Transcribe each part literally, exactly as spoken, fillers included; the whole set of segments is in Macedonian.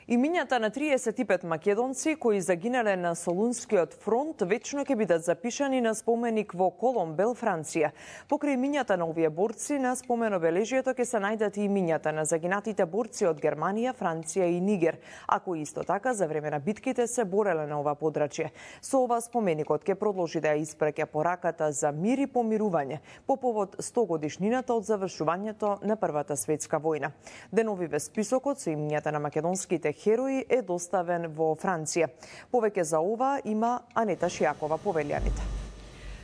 Имињата на триесет и пет македонци кои загинале на Солунскиот фронт вечно ќе бидат запишани на споменик во Коломбел, Франција. Покрај имињата на овие борци на споменобележјето ќе се најдат и имињата на загинатите борци од Германија, Франција и Нигер, а кои исто така за време на битките се бореле на ова подрачје. Со ова споменикот ќе продолжи да ја испраќа пораката за мир и помирување по повод сто годишнината од завршувањето на Првата светска војна. Деновиве списокот со имињата на македонските херои е доставен во Франција. Повеќе за ова има Анета Шијакова по велјаните.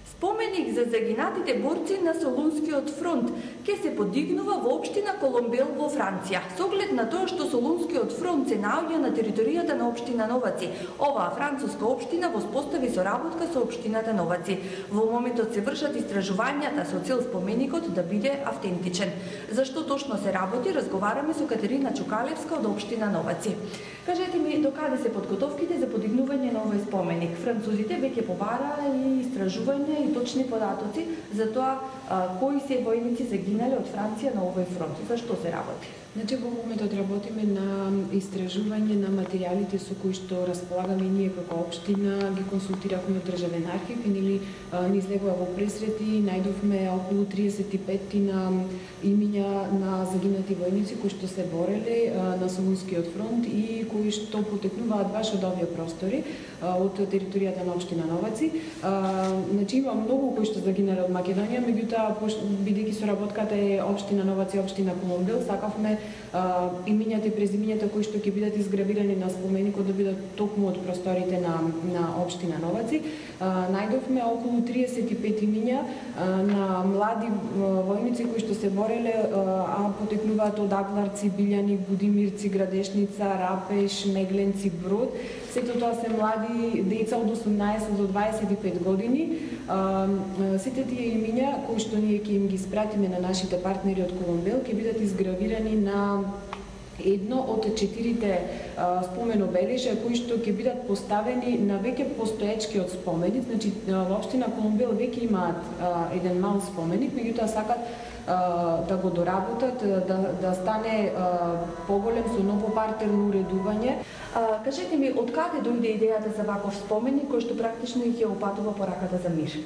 Споменик за загинатите борци на Солунскиот фронт ќе се подигнува во општина Коломбел во Франција. Со оглед на тоа што Солунскиот фронт се наоѓа на територијата на општина Новаци, оваа француска општина воспостави соработка со општината Новаци. Во моментот се вршат истражувањата со цел споменикот да биде автентичен. Зашто точно се работи, разговараме со Катерина Чукалевска од општина Новаци. Кажете ми, докаде се подготовките за подигнување на овој споменик? Французите веќе побараа и истражување и точни податоци за тоа а, кои се војници загинале од Франција на овој фронт. За што се работи? Значи, во моментот работиме на истражување на материјалите со кои што располагаме и ние како општина, ги консултиравме од Државен архив и нели ни излегува во пресрети, најдовме околу триесет и пет на имиња на загинати војници кои што се бореле на Солунскиот фронт и кои што потекнуваат баш од овие простори, од територијата на општина Новаци. Значи, има многу кои што загинале од Македонија, меѓутоа бидејќи соработката е општина Новаци и општина Коломбел, сакавме имињата и презимињата кои што ќе бидат изгравирани на споменикот да бидат токму од просторите на на општина Новаци. Најдовме околу триесет и пет имиња на млади војници кои што се бореле, а потекнуваат од Агларци, Билјани, Будимирци, Градешница, Рапеш, Мегленци, Брод. Сето тоа се млади деца од осумнаесет до дваесет и пет години. Сите тие имиња кои што ние ќе им ги спратиме на нашите партнери од Коломбел ќе бидат изгравирани на едно од четирите споменобележја кои што ќе бидат поставени на веќе постоечкиот споменик. Значи, во општина Коломбел веќе имаат еден мал споменик, меѓутоа сакат да го доработат, да, да стане поголем со ново партерно уредување. А, кажете ми, од каде дојде идејата за ваков споменик кој што практично ќе опатува пораката за мир?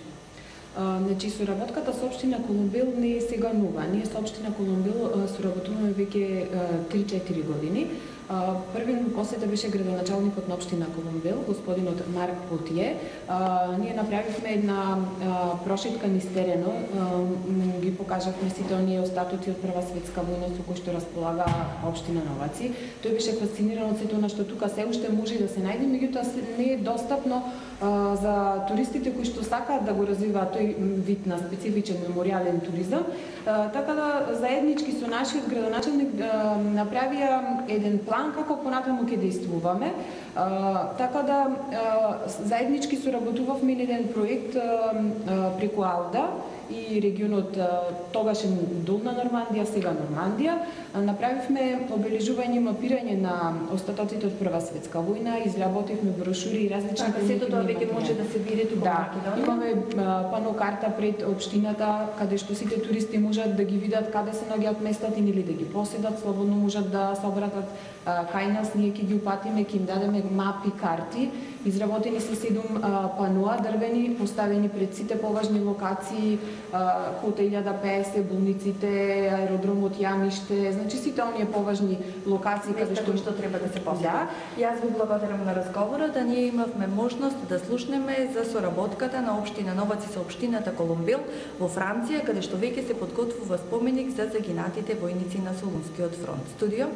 Uh, значи, соработката со општина Коломбел не е сега нова. Ние со општина Коломбел uh, соработуваме веќе три-четири години. Uh, први на посета беше градоначалникот на општина Коломбел, господинот Марк Потие. Uh, ние направивме една uh, прошетка низ терено, uh, ги покажавме сите оние остатоци од Прва светска војна со кои што располага општина Новаци. Тој беше фасциниран од сето она што тука се уште може да се најде, меѓутоа не е достапно uh, за туристите кои што сакаат да го развиваат тој вид на специфичен меморијален туризам. Uh, така да заеднички со нашиот градоначалник uh, направија еден план како понатаму ќе действуваме. Uh, така да uh, заеднички соработувавме на еден проект uh, uh, преку Алда и регионот uh, тогашен Долна Нормандија, сега Нормандија. Uh, направивме обележување и мапирање на остатоците од Прва светска војна, изработивме брошури и различни така, сето тоа веќе може да се види тука во Македонија. Имаме uh, панокарта пред општината каде што сите туристи можат да ги видат каде се наоѓаат местата или да ги поседат, слободно можат да се обратат uh, кај нас, ние ќе ги упатиме, ќе им дадеме мапи, карти. Изработени се седум uh, паноа дрвени, поставени пред сите поважни локации, uh, хотел илјада петдесет, болниците, аеродромот Јамиште, значи сите оние поважни локации каде што што треба да се посети. Да. Јас ви благодарам на разговорот, да ние имавме можност да слушнеме за соработката на општина Новаци со општината Коломбел во Франција, каде што веќе се подготвува споменик за загинатите војници на Солунскиот фронт. Студио